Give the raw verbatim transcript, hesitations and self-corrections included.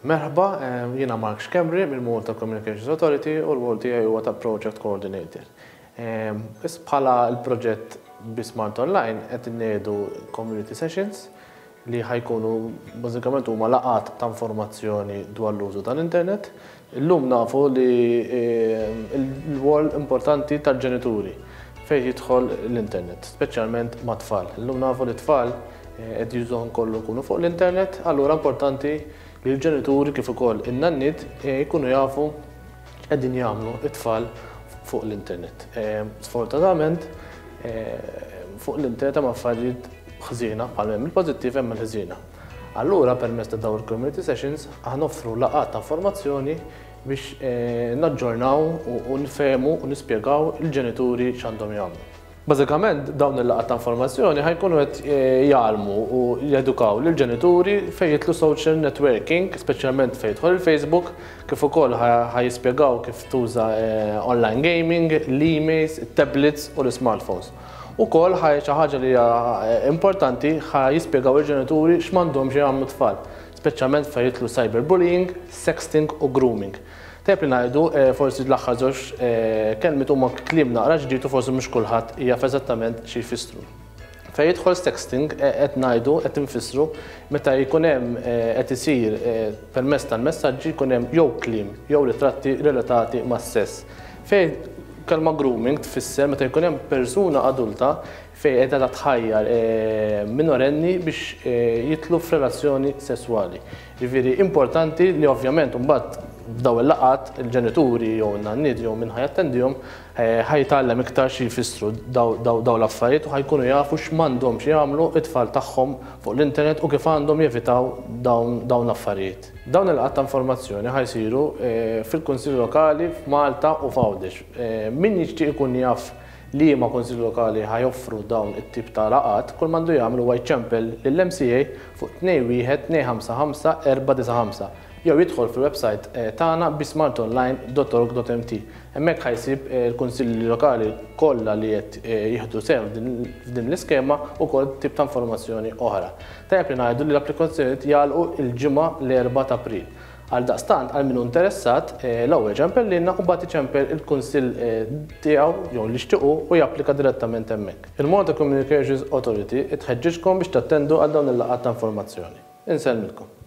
Merħba, jiena Mark Schembri mill-Malta Communications Authority u r-rwol tiegħi huwa ta' Project Coordinator. Is bħala l-proġett Be Smart Online qed inniedu community sessions li ħa jkunu bażikament huma laqgħat ta' informazzjoni dwar l-użu tal-internet. Illum nafu li l-rwol importanti tal-ġenituri fejn jidħol l-internet, speċjalment ma' tfal. Illum nafu li tfal qed jużaw kollu jkunu fuq l-internet, allura importanti li l-ġenituri kif ukoll in-nanniet jkunu jafu qegħdin jagħmlu it-tfal fuq l-internet. Sfortunatament, fuq l-internet hemm affarijiet ħżiena bħal hemm il-pożittiv, hemm il-ħżiena. Allura, permezz ta' dawn il-community sessions aħna noffru laqgħat ta' informazzjoni biex naġġornaw u nfehmu u nispjegaw il-ġenituri x'għandhom jagħmlu. Bażikament, dawn il-laqgħat ta' informazzjoni ħa jkunu qed jgħallmu u jedukaw lill-ġenituri fejn jidħlu social networking, speċjalment fejn jidħol il-Facebook, kif ukoll ħa jispjegaw kif tuża online gaming, l-emails, tablets u l-smartphones. Ukoll ħaj xi ħaġa li hija importanti, ħa jispjegaw il-ġenituri x'm'għandhomx jagħmlu tfal, speċjalment fejn jidħlu cyberbullying, sexting u grooming. Tajjeb li ngħidu, forsi l-aħħar żewġ kelmiet huma kliem naqra ġdid u forsi mhux kulħadd jaf eżattament xi jfissru. Fejn jidħol sexting, qed ngħidu, qed infissru meta jkun hemm qed isir permezz tal-messaġġi, jkun hemm jew kliem jew ritratti relatati mas-sess. Fejn kelma grooming tfisser meta jkun hemm persuna adulta fejn qiegħda tħajjar minorenni biex jidħlu f'relazzjoni sesswali. Ġifieri importanti li ovvjament mbagħad f'daw il-laqgħat il-ġenituri jew n-nanniet jew min ħa jattendihom ħa jitgħallem iktar xi jfissru daw l-affarijiet u ħa jkunu jafu x'm'għandhomx jagħmlu it-tfal tagħhom fuq l-internet u kif għandhom jevitaw dawn l-affarijiet. Dawn il-laqgħat ta' informazzjoni ħa jsiru fil-Kunsill Lokali f'Malta u f'Għawdex. Min jixtieq ikun jaf li ma kunsill lokali ħa joffru dawn it-tip ta' laqgħat, kull m'għandu jagħmel huwa jċempel lill-M C A fuq tnejn wieħed tnejn ħamsa ħamsa erba' disa' ħamsa jew jidħol fil-website tagħna besmartonline punt org punt M T. Hemmhekk ħa jsib il-kunsilli lokali kollha li qed jieħdu sehem f'din l-iskema u kull tip ta' informazzjoni oħra. Tajjeb li ngħidu li l-applikazzjonijiet jagħlqu il-Ġimgħa, l-erbgħa ta' April. Għal daqstant, għal min hu interessat, l-ewwel ċempel lilna u mbagħad iċempel il-kunsill tiegħu jew li jixtiequ u japplika direttament hemmhekk. Il-Malta Communications Authority tħeġġiġkom biex tattendu għal dawn il-laqgħat ta' informazzjoni. Insellmilkom.